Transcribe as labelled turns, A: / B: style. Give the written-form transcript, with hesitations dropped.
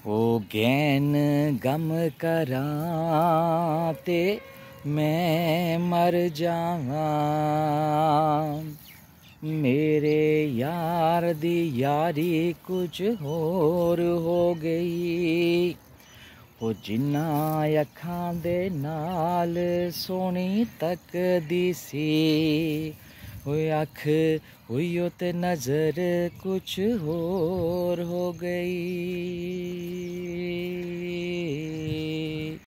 A: ओ gain गम करां ते मैं मर जावां, मेरे यार दी यारी कुछ होर हो गई। ओ जिन्ना अखां दे नाल सोहनी तकदी सी, ओए अख हुई ते नज़र कुछ होर हो गई।